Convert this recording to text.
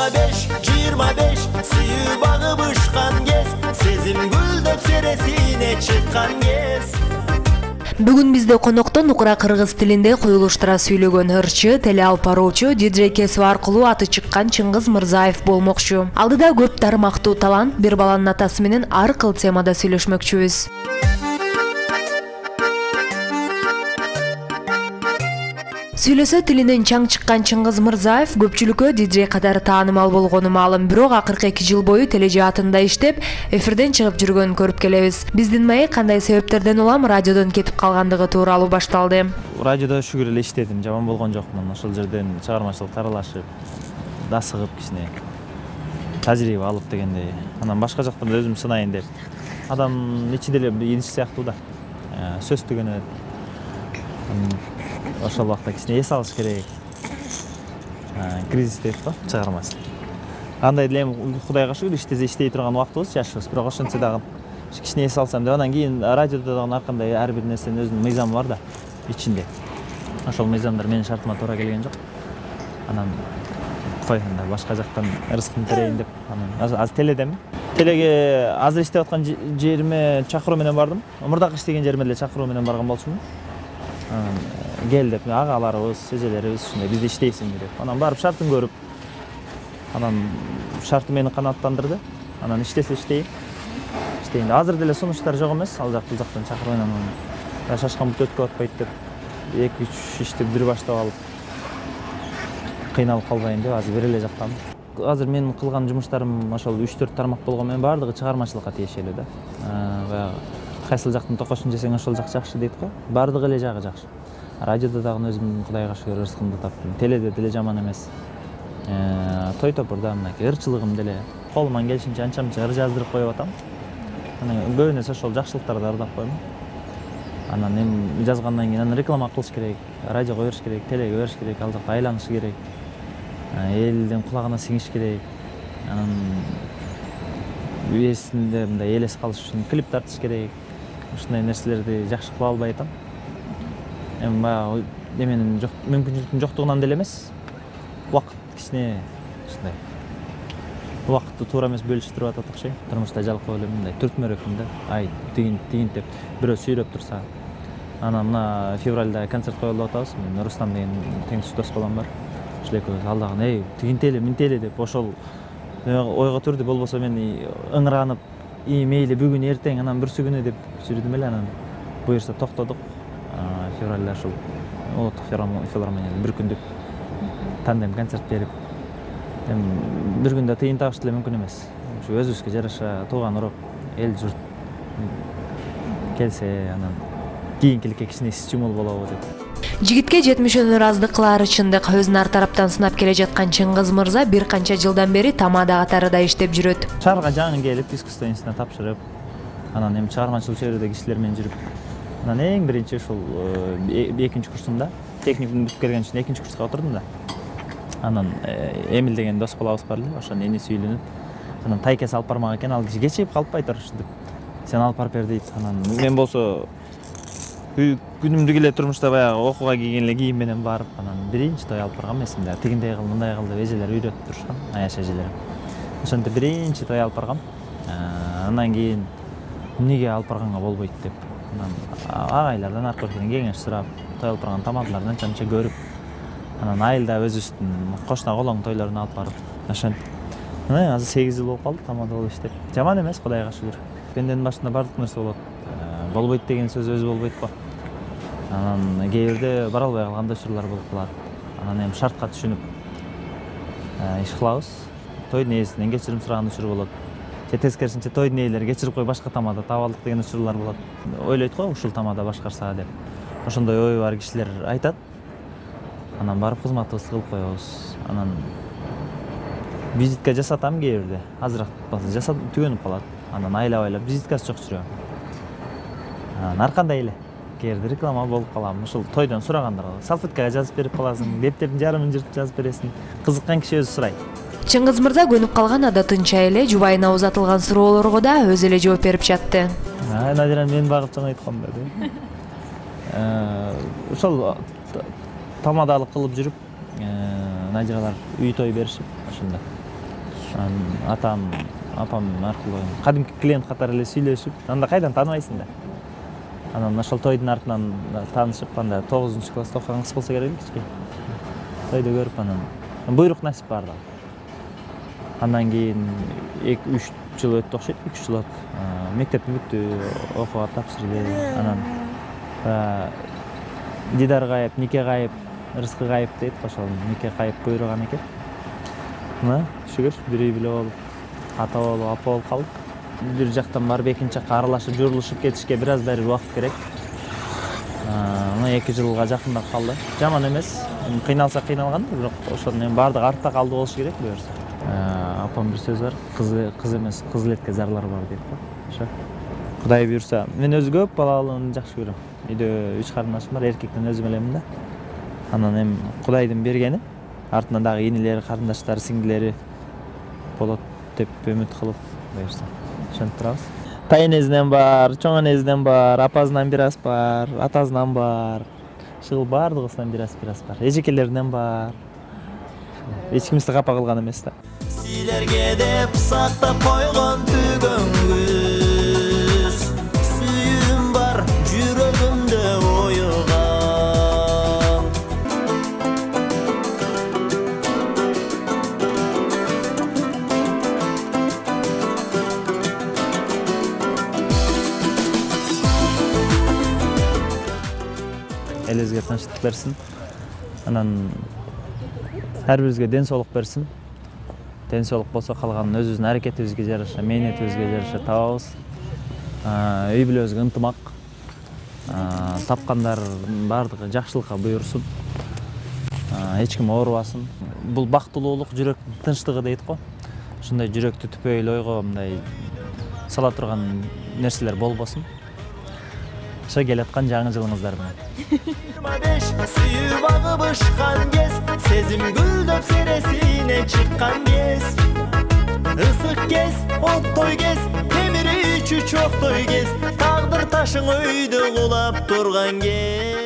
25 сүйүү багып ышкан кез, сезим гүлдөп сересине чыккан кез. Бүгүн бизде конокто нукура кыргыз тилинде коюлуштура сүйлөгөн ырчы, теле алып баруучу, диджей кесиби аркылуу аты чыккан Чыңгыз Мырзаев болмокчу. Алдыда көп тармактуу талант, бир баланын атасы менен ар кыл темада сүйлөшмөкчүбүз. Сүйлөсө тилинен чаң чыккан Чыңгыз Мырзаев көпчүлүккө диджей катары таанымал болгону маалым, бирок акыркы 2 жыл бою тележаатында иштеп, эфирден чыгып жүргөнүн көрүп келебиз. Биздин маек кандай себептерден улам радиодон кетип калгандыгы тууралуу башталды. Радиодо шүгүр эле иштедим, жаман болгон жокмун. Ошол жерден чыгармачылыкка аралашып, дасыгып кичине тажрыйба алып дегендей. Анан башка жактарда өзүм сынайын деп. Адамдын ичинде эле иниш сыяктуу да. Сөз түгөнөт. Ошол убакта кичине эс алыш керек. Кризис дейт го, чыгармачылык. Кандай деле Кудайга шүгүр иштей турган убактыбыз, жашыбыз, бирок ошентсе дагы кичине эс алсам деп, анан кийин радиодо дагы ар кандай ар бир нерсенин өзүнүн мыйзамы бар да ичинде. Ошол мыйзамдар менин шартыма туура келген жок. Анан кой, анда башка жактан рызкымды терейин деп, анан азыр теледемин. Телеге азыр иштеп аткан жериме чакыруу менен бардым. Мурдакы иштеген жериме деле чакыруу менен барган болчумун. Гел деп, агаларыбыз, эжелерибиз ушундай бизде иштейсиңби деп. Анан барып шартын көрүп, анан шарты мени канааттандырды. Анан иштесе иштейин. Азыр деле сунуштар жок эмес, ал жак бул жактан чакырып анан шашкан бут өткө атпайт деп 2-3 ишти бир баштап алып кыйналып калбайын деп азыр бир эле жактамын. Азыр менин кылган жумуштарым ошол 3-4 тармак болгон менен баардыгы чыгармачылыкка тиешелүү да. Баягы кайсыл жактын токошун жесең ошол жак жакшы дейт го. Баардыгы эле жагы жакшы. Радиодо дагы өзүм Кудайга шүгүр рызкымды таптым. Теледе деле жаман эмес. Той топурда мынакей ырчылыгым деле колуман келишинче анча-мынча ыр жаздырып коюп атам. Анан көбүнесе ошол жакшылыктарды ырдап коем. Анан эми жазгандан кийин анан реклама кылыш керек, радиого бериш керек, телеге бериш керек, ал жакта айланыш керек. Элдин кулагына сиңиш керек. Анан эсинде мындай элес калыш үчүн клип тартыш керек. Ушундай нерселерди жакшы кыла албай атам. Эми баягы эменин мүмкүнчүлүктүн жоктугунан деле эмес. Убакыт кичине ушундай. Убакытты туура эмес бөлүштүрүп атат окшойм. Турмушта жалкоо эле мындай түртмөрөкмүн да. Ай, тигин деп бирөө сүйрөп турса. Анан мына февралда концерт коюлуп атабыз. Мен Рустам деген теңдеш дос балам бар. Ошол экөөбүз алдаган, эй, тигинтели, минтели деп ошол ойго турду. Болбосо мен ыңыранып, мейли бүгүн эртең, анан бүрсү күнү деп жүрдүм эле. Анан буюрса токтодук. Февралда ошол улуттук филармонияда бир күндүк тандем концерт берип, эми бир күндө тыйын табыш деле мүмкүн эмес. Ушу өзүбүзгө жараша тууган уруп, эл журт келсе, анан кийинкиликке кичине стимул болобу деп. Жигитке жетмишөөнө ыраздык кылаары чындык. Өзүн ар тараптан сынап келе жаткан Чыңгыз Мырза бир канча жылдан бери тамада катарында иштеп жүрөт. Шаарга жаңы келип, искусство институтуна тапшырып, анан эми чыгармачылык чөйрөдө кишилер менен жүрүп, анан эң биринчи ушул 2-нчи курсумда, техникумду бүтүп келген үчүн 2-нчи курска отурдум да. Анан Эмил деген дос балабыз бар эле, ошонун эниси үйлөнүп, анан тайкеси алып бармак экен, ал киши кечигип калпай тур ушинтип. Сен алып барып бер дейт. Анан мен болсо күнүмдүк эле турмушта баягы окууга кийген эле кийим менен барып, анан биринчи той алып баргам эсимде. Тигиндей кыл, мындай кыл деп эжелер үйрөтүп турушкан, аяш эжелер. Ошентип биринчи той алып баргам. Андан кийин эмнеге алып барганга болбойт деп. Анан агайлардан аркылуу кеңеш сурап, той алып барган тамадаларын анча-мынча көрүп, анан айылда өзүбүздүн кошуна колоң тойлоруна алып барып, ошентип. Анан азыр 8 жыл болуп калды тамада болуп иштеп. Жаман эмес, Кудайга шүгүр. Пенденин башында бардык нерсе болот. Болбойт деген сөз өзү болбойт го. Анан кээ бирде бара албай калган учурлар болуп калат. Анан эми шартка түшүнүп иш кылабыз. Тойдун ээсинен кечирим сураган учур болот. Же тескерисинче тойдун ээлери кечирип кой, башка тамада таап алдык деген учурлар болот. Ойлойт го, ушул тамада башкарса деп. Ошондой ою бар кишилер айтат. Анан барып кызматыбызды кылып коебуз. Анан визитка жасатам кээ бирде. Азыраак болсо жасап түгөнүп калат. Анан айлап визиткасы жок жүрөм. Анан ар кандай эле кээ бирде реклама болуп калам. Ушул тойдон сурагандарга салфеткага жазып берип каласың, беттердин жарымын жыртып жазып бересиң. Кызыккан киши өзү сурайт. Чыңгыз Мырза көнүп калган адатынча эле жубайына узатылган суроолорго да өзү эле жооп берип жатты. Надирам мен багып жана айтканда деп. Ошол тамадалык кылып жүрүп, Надиралар үй той беришип, ошондо Атам, апам аркылуу кадимки клиент катары эле сүйлөшүп, анда кайдан тааныбайсың да. Анан ошол тойдун артынан таанышып, анда 9-класста окуган кыз болсо керек эле кичке. Тойду көрүп, анан буйрук насип бардыгы. Андан кийин 2-3 жыл өттү окшойт, 3 жыл өтүп, мектепти бүттү, окууга тапшырды. Анан Дидар кайып, Нике кайып, Рызкы кайып дейт, ошол Нике кайып буйруган экен. Мына, шүгүр, бир үй бүлө болуп, ата болуп, апа болуп калдык. Бир жактан барып экинчи жакка аралашып, журулушуп кетишке бир аз бери убакыт керек. Мына 2 жылга жакындап калды. Жаман эмес. Кыйналса кыйналган, бирок ошонун баардыгы артта калды болуш керек буюрса. Апам бир сөз бар, кыз эмес, кыз элетке зарлар бар дейт го. Ошо. Кудай буйрса, мен өзү көп балалуулугун жакшы көрөм. Үйдө 3 карындашым бар, эркектен өзүм элемин да. Анан эми Кудайдын бергени, артынан дагы инилери, карындаштары, сиңдилери болот деп үмүт кылып буюрса. Ошентип турабыз. Тайнезинен бар, чоң энезинен бар, апасынан бир аз бар, атасынан бар. Шыл бардыгысынан бир аз бар. Эжекелеринен бар. Эч кимди капа кылган эмес да. Силерге деп сактап койгон түгөнгүз, сүйүүм бар жүрөгүмдө оюган. Элибизге тынчтык берсин. Анан ар бирибизге ден соолук берсин. Ден соолук болсо калганын өзүбүздүн аракетибизге жараша, мээнетибизге жараша табабыз. Үй бүлөбүзгө ынтымак. Тапкандардын баардыгы жакшылыкка буйрсун. Эч ким оорубасын. Бул бактылуулук жүрөктүн тынчтыгы дейт го. Ушундай жүрөктү түпөйүл ойго мындай сала турган нерселер болбосун. Ошо келаткан жаңы жылыңыздар менен. 25 сүйүү багып ышкан кез, сезим гүлдөп сересине чыккан кез. Ысык кез, оттой кез, темир ичүү чоктой кез, тагдыр ташың өйдө кулап турган кез.